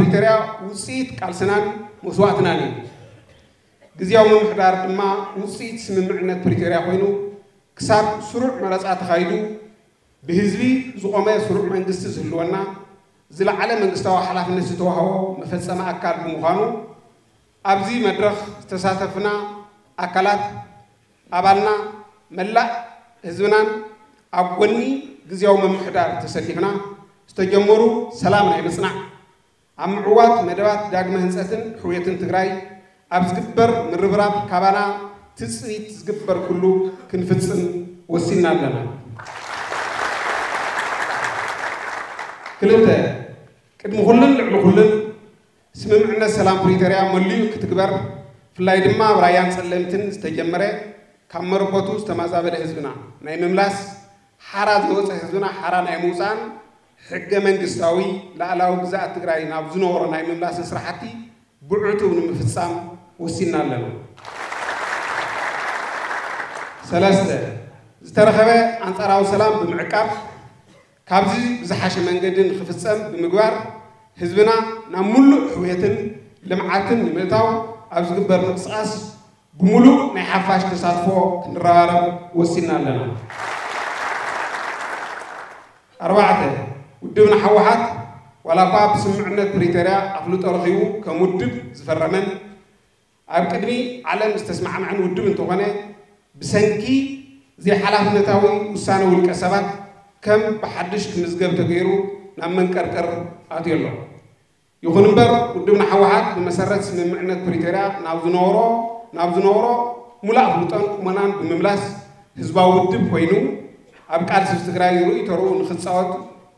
ፕሪቶርያ ውፅኢት ቃልስናን መስዋእትናን እዩ። ግዝያዊ ምምሕዳር ድማ ውፅኢት ስምምዕነት ፕሪቶርያ ኮይኑ ክሳብ ስሩዕ መረፃ ተኻይዱ ብህዝቢ ዝቖመ ስሩዕ መንግስቲ ዝህልወና ዝለዓለ መንግስታዊ ሓላፍነት ዝተዋህቦ መፈፀሚ ኣካል ብምዃኑ ኣብዚ መድረኽ ዝተሳተፍና ኣካላት ኣባልና መላእ ህዝብናን ኣብ ጎኒ ግዝያዊ ምምሕዳር ተሰሊፍና ዝተጀመሩ ሰላም ናይ ምፅናዕ ኣብ ምዕዋት መደባት ዳግመ ህንፀትን ሕውየትን ትግራይ ኣብ ዝግበር ምርብራብ ካባና ትፅቢት ዝግበር ኩሉ ክንፍፅም ወሲና ኣለና። ክልተ፣ ቅድሚ ኩሉን ልዕሊ ኩሉን ስምምዕነት ሰላም ፕሪቶርያ መሊኡ ክትግበር፣ ብፍላይ ድማ ኣብ ራያን ፀለምትን ዝተጀመረ ካብ መረበቱ ዝተማዛበለ ህዝብና ናይ ምምላስ፣ ሓራ ዝወፀ ህዝብና ሓራ ናይ ምውፃእን ሕገ መንግስታዊ ላዕላዊ ግዛኣት ትግራይ ናብ ዝነበሮ ናይ ምምላስን ስራሕቲ ብዕቱብ ንምፍፃም ወሲና ኣለና። ሰለስተ፣ ዝተረኸበ ኣንፃራዊ ሰላም ብምዕቃብ ካብዚ ብዝሓሸ መንገዲ ንክፍፀም ብምግባር ህዝብና ናብ ሙሉእ ሕውየትን ልምዓትን ንምእታው ኣብ ዝግበር ምንቅስቃስ ብምሉእ ናይ ሓፋሽ ተሳትፎ ክንረባረብ ወሲና ኣለና። ኣርባዕተ፣ ውድብና ህወሓት ዋላ እኳ ብስምምዕነት ፕሪቶርያ ኣፍልጦ ረኺቡ ከም ውድብ ዝፈረመን ኣብ ቅድሚ ዓለም ዝተስማዕምዐን ውድብ እንተኾነ ብሰንኪ ዘይሓላፍነታዊ ውሳነ ውልቀ ሰባት ከም ብሓድሽ ክምዝገብ ተገይሩ ናብ መንቀርቀር ኣትዩ ኣሎ። ይኹን እምበር ውድብና ህወሓት ብመሰረት ስምምዕነት ፕሪቶርያ ናብ ዝነበሮ ናብ ዝነበሮ ሙሉእ ኣፍልጦን ቁመናን ብምምላስ ህዝባዊ ውድብ ኮይኑ ኣብ ቃልሲ ትግራይ ርእይ ተርኡ ንክፃወት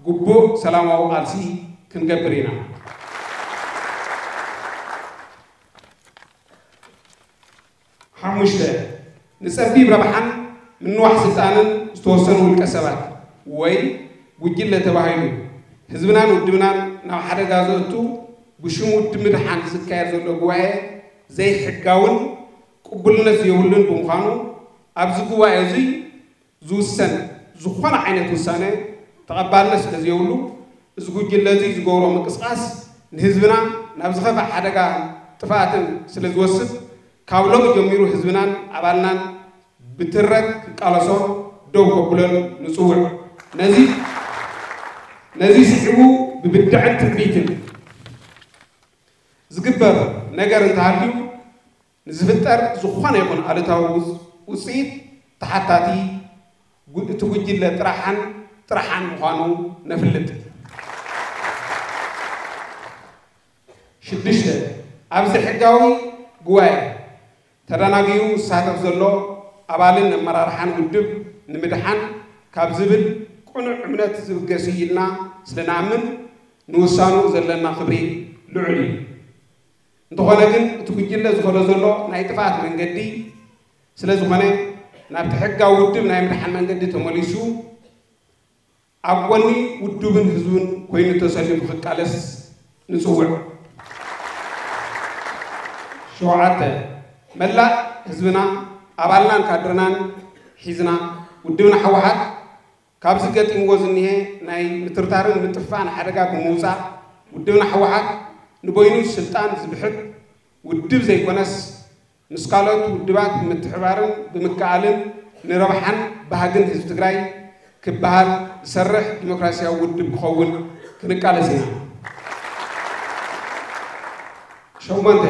ግቡእ ሰላማዊ ቃልሲ ክንገብር ኢና። ሓሙሽተ፣ ንፀቢብ ረብሓን ምንዋሕ ስልጣንን ዝተወሰኑ ውልቀ ሰባት ወይ ጉጅለ ተባሂሉ ህዝብናን ውድብናን ናብ ሓደጋ ዘእቱ ብሽም ውድብ ምድሓን ዝካየድ ዘሎ ጉባኤ ዘይሕጋውን ቅቡልነት ዘይብሉን ብምዃኑ ኣብዚ ጉባኤ እዚ ዝውሰን ዝኾነ ዓይነት ውሳነ ተቐባልነት ስለ ዘይብሉ እዚ ጉጅለ እዚ ዝገብሮ ምንቅስቃስ ንህዝብና ናብ ዝኸፍእ ሓደጋ ጥፍኣትን ስለ ዝወስድ ካብ ሎሚ ጀሚሩ ህዝብናን ኣባልናን ብትረት ክቃለሶ ደው ከብሎን ንፅውዕ። ነዚ ነዚ ስዒቡ ብብድዐን ትዕቢትን ዝግበር ነገር እንተሃልዩ ንዝፍጠር ዝኾነ ይኹን ኣሉታዊ ውፅ- ውፅኢት ተሓታቲ ጉ- እቲ ጉጅለ ጥራሓን ጥራሓን ምዃኑ ነፍልጥ። ሽዱሽተ፣ ኣብዚ ሕጋዊ ጉባኤ ተደናጊሩ ዝሳተፍ ዘሎ ኣባልን ኣመራርሓን ውድብ ንምድሓን ካብ ዝብል ቅኑዕ እምነት ዝብገስ እዩ ኢልና ስለ ንኣምን ንውሳኑ ዘለና ክብሪ ልዑል እዩ። እንተኾነ ግን እቲ ጉጅለ ዝኸዶ ዘሎ ናይ ጥፍኣት መንገዲ ስለ ዝኾነ ናብቲ ሕጋዊ ውድብ ናይ ምድሓን መንገዲ ተመሊሱ ኣብ ጎኒ ውድብን ህዝብን ኮይኑ ተሰሊፉ ክቃለስ ንፅውዕ። ሸውዓተ፣ መላእ ህዝብና ኣባልናን ካድርናን ሒዝና ውድብና ህወሓት ካብዚ ገጢምዎ ዝኒሀ ናይ ምትርታርን ምጥፍፋእን ሓደጋ ብምውፃእ ውድብና ህወሓት ንበይኑ ስልጣን ዝብሕት ውድብ ዘይኮነስ ምስ ካልኦት ውድባት ብምትሕባርን ብምክኣልን ንረብሓን ባህግን ህዝቢ ትግራይ ክበሃል ዝሰርሕ ዲሞክራሲያዊ ውድብ ክኸውን ክንቃለስ ኢና። ሸሞንተ፣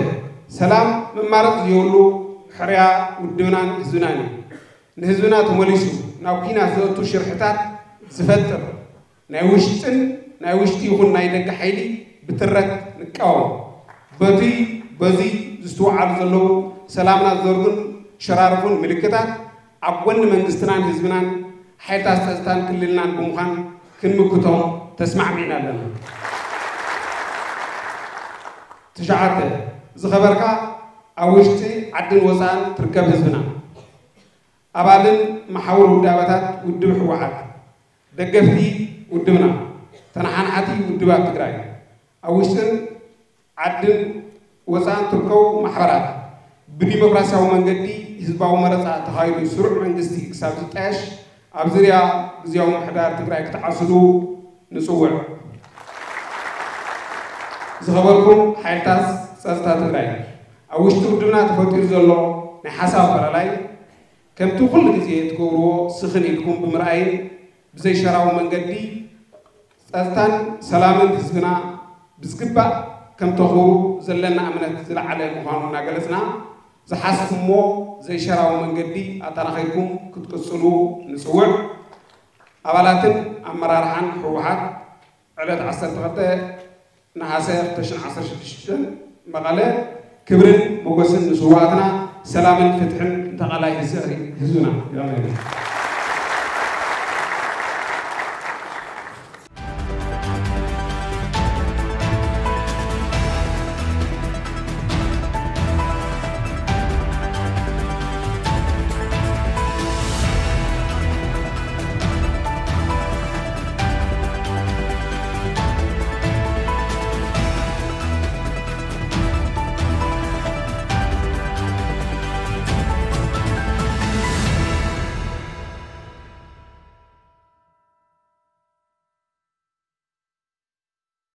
ሰላም መማረፂ ዘይብሉ ሕርያ ውድብናን ህዝብናን እዩ። ንህዝብና ተመሊሱ ናብ ኲናት ዘእቱ ሽርሕታት ዝፈጥር ናይ ውሽጥን ናይ ውሽጢ ይኹን ናይ ደገ ሓይሊ ብትረት ንቃወም። በቲ በዚ ዝስትውዓሉ ዘለዉ ሰላምና ዝዘርጉን ሸራርፉን ምልክታት ኣብ ጎኒ መንግስትናን ህዝብናን ሓይልታት ፀጥታን ክልልናን ብምዃን ክንምክቶም ተስማዕሚዕና ኣለና። ትሽዓተ፣ ዝኸበርካ ኣብ ውሽጢ ዓድን ወፃእን ትርከብ ህዝብና ኣባልን መሓውር ውዳበታት ውድብ ህወሓት፣ ደገፍቲ ውድብና፣ ተነሓናሕቲ ውድባት ትግራይ፣ ኣብ ውሽጥን ዓድን ወፃእን ትርከቡ ማሕበራት ብዲሞክራሲያዊ መንገዲ ህዝባዊ መረፃ ተኻይዱ ስሩዕ መንግስቲ ክሳብ ዝጣየሽ ኣብ ዝርያ ግዝያዊ ምምሕዳር ትግራይ ክትዓስሉ ንፅውዕ። ዝኸበርኩም ሓይልታት ጸጥታ ትግራይ፣ ኣብ ውሽጢ ውድብና ተፈጢሩ ዘሎ ናይ ሓሳብ ኣፈላላይ ከምቲ ኩሉ ግዜ ትገብርዎ ስኽን ኢልኩም ብምርኣይን ብዘይሸራዊ መንገዲ ጸጥታን ሰላምን ህዝብና ብዝግባእ ከም ተኽብሩ ዘለና እምነት ዝለዓለ ምዃኑ እናገለጽና፣ ዝሓዝኩሞ ዘይሸራዊ መንገዲ ኣጠናኺርኩም ክትቅጽሉ ንጽውዕ። ኣባላትን ኣመራርሓን ህወሓት ዕለት ዓሰርተ ክልተ ነሓሰ ክልተ ሽሕን ዓሰርተ ሽዱሽተ መቐለ። ክብርን ሞገስን ንስውኣትና፣ ሰላምን ፍትሕን ንተቓላይ ህዝብና።